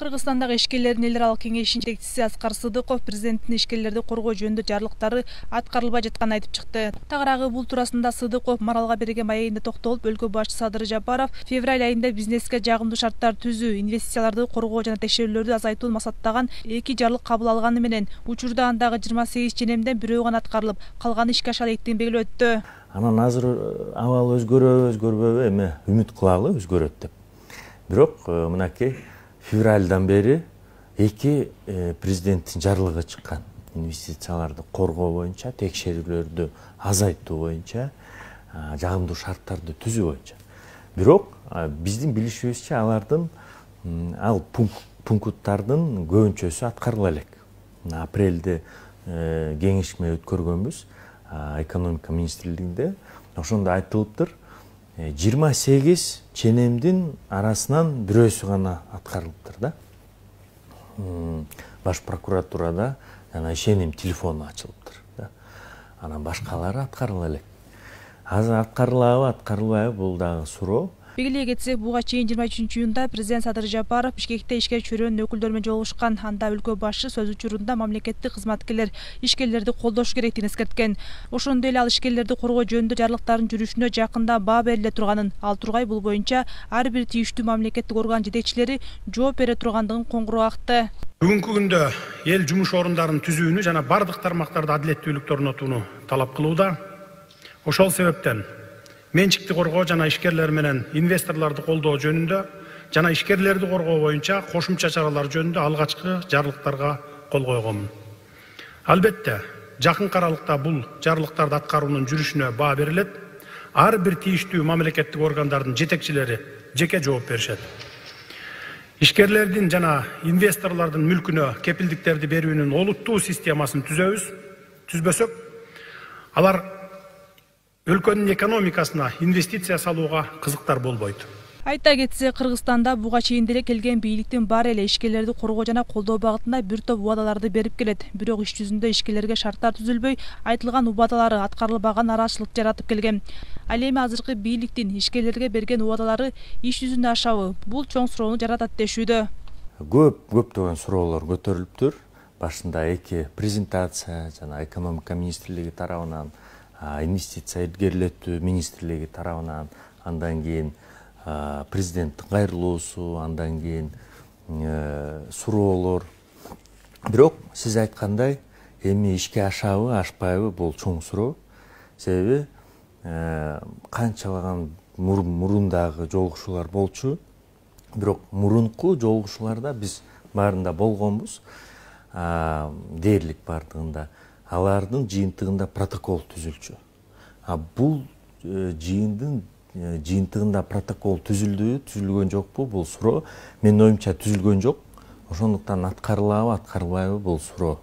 Кыргызстандагы ишкерлердин эл аралык кеңешинин жетекчиси Аскар Сыдыков президенттин ишкерлерди коргоо жөнүндө жарлыктары аткарылбай жатканын айтып чыкты. Тагыраагы бул туурасында Сыдыков Маралга берген маегинде токтолуп, өлкө башчысы Садыр Жапаров февраль айында бизнеске жагымдуу шарттар түзүү, инвестицияларды коргоо жана текшерүүлөрдү азайтууну максаттаган 2 жарлык кабыл алганы менен учурда андагы 28 ченемден бирөө гана аткарылып, калганы ишке аша электигин белгилеп өттү. Анан азыр абал өзгөрбөйбү, эми үмүт кылалы өзгөрөт деп. Бирок мынакей февралдан бери 2 президенттин жарлыгы чыккан. Инвестицияларды коргоо боюнча, текшерүүлөрдү азайтуу боюнча, жагымдуу шарттарды түзүү боюнча. Бирок биздин билишибизче алардын пункттардын көбүнчөсү аткарыла элек. Апрелде кеңешме өткөргөнбүз экономика министрлигинде. Ошондо айтылыптыр, 28 ченемдин арасынан бирөөсү гана аткарылыптыр да. Баш прокуратурада жана ишеним телефону ачылыптыр да. Анан башкалары аткарыла элек. Азыр аткарылабы, аткарылбайбы бул дагы суроо. Белгилей кетсек, буга чейин 23-июнда президент Садыр Жапаров Бишкекте ишкер чөйрөнүн өкүлдөрү менен жолугушкан. Анда өлкө башчы сөз учурунда мамлекеттик кызматкерлер ишкерлерди колдош керектигин эскерткен. Ошондой эле ал ишкерлерди коргоо жөнүндө жарлыктардын жүрүшүнө жакында баа бериле турганын, ал тургай бул боюнча ар бир тийиштүү мамлекеттик орган жетекчилери жооп бере тургандыгын коңгуроо акты. Бүгүнкү күндө эл жумуш орундарын түзүүнү жана бардык тармактарда адилеттүүлүктү орнотууну талап кылууда. Ошол себептен менчикти коргоо жана ишкерлер менен инвесторлорду колдоо жөнүндө жана ишкерлерди коргоо боюнча кошумча чаралар жөнүндө алгачкы жарлыктарга кол койгонмун. Албетте, жакынкы аралыкта бул жарлыктарды аткаруунун жүрүшүнө баа берилет. Ар бир тийиштүү мамлекеттик органдардын жетекчилери жеке жооп беришет. Ишкерлердин жана инвесторлордун мүлкүнө кепилдиктерди берүүнүн олуттуу системасын түзбөсөк, алар өлкөнүн экономикасына инвестиция салууга кызыктар болбойт. Айта кетсе, Кыргызстанда буга чейин деле келген бийликтин баары эле ишкерлерди коргоо жана колдоо багытында бир топ убадаларды берип келет. Бирок иш жүзүндө ишкерлерге шарттар түзүлбөй, айтылган убадалары аткарылбаган нараазычылык жаратып келген. Ал эми азыркы бийликтин ишкерлерге берген убадалары иш жүзүндө ашабы? Бул чоң суроону жаратат дешүүдө. Көптөгөн суроолор көтөрүлүптүр. Башында 2 презентация жана экономика министрлиги тарабынан, инвестиция илгерилетүү министрлиги тарабынан, андан кийин президенттин кайрылуусу, андан кийин суроолор. Бирок сиз айткандай, эми ишке ашабы, ашпайбы бул чоң суроо. Себеби канчалаган мурундагы жолугушуулар болчу. Бирок мурунку жолугушууларда биз баарында болгонбуз, дээрлик бардыгында. Алардын жыйынтыгында протокол түзүлчү. Бул жыйынтыгында протокол түзүлдүбү, түзүлгөн жокпу? Бул суроо. Менин оюмча түзүлгөн жок. Ошондуктан аткарылабы, аткарылбайбы бул суроо.